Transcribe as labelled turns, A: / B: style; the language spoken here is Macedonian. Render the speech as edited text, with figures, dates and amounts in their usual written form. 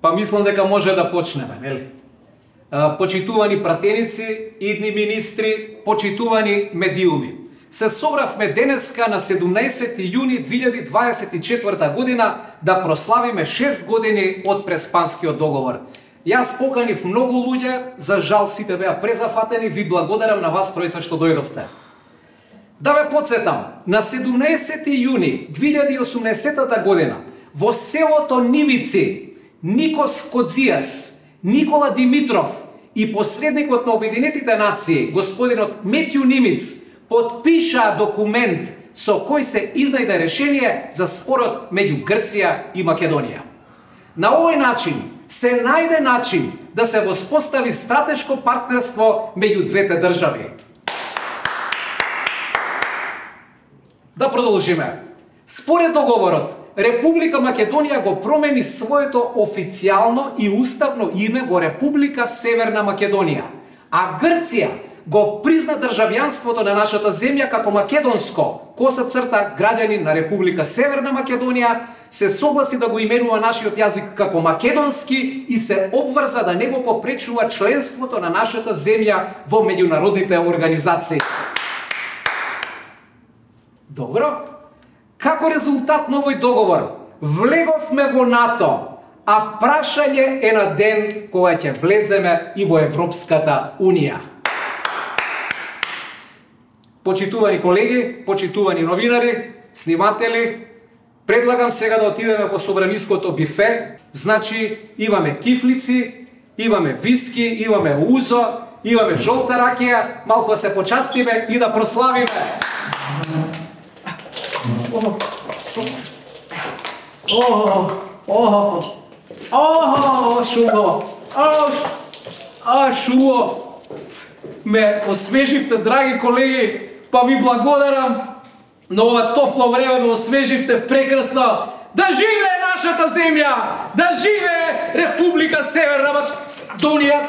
A: Па мислам дека може да почнеме, нели? Почитувани пратеници, идни министри, почитувани медиуми. Се собравме денеска на 17 јуни 2024 година да прославиме 6 години од Преспанскиот договор. Јас поканив многу луѓе, за жал сите беа презафатени, ви благодарам на вас тројца што дојдовте. Да ве подсетам, на 17 јуни 2018 година во селото Нивици Никос Кодзијас, Никола Димитров и посредникот на Обединетите нации, господинот Метју Нимиц, подпишаа документ со кој се изнајде решение за спорот меѓу Грција и Македонија. На овој начин се најде начин да се воспостави стратешко партнерство меѓу двете држави. Да продолжиме. Според договорот, Република Македонија го промени своето официјално и уставно име во Република Северна Македонија, а Грција го призна државјанството на нашата земја како македонско, _, граѓанин на Република Северна Македонија, се согласи да го именува нашиот јазик како македонски и се обврза да не го попречува членството на нашата земја во меѓународните организации. Добро. Како резултат на овој договор, влеговме во НАТО, а прашање е на ден кога ќе влеземе и во Европската Унија. Почитувани колеги, почитувани новинари, сниматели, предлагам сега да отидеме во собраниското бифе. Значи, имаме кифлици, имаме виски, имаме узо, имаме жолта ракија, малку да се почастиме и да прославиме. Шумо! Шумо! Ме освеживте, драги колеги, па ви благодарам. На ова топло време ме освеживте прекрасно. Да живее нашата земја! Да живее Република Северна Македонија!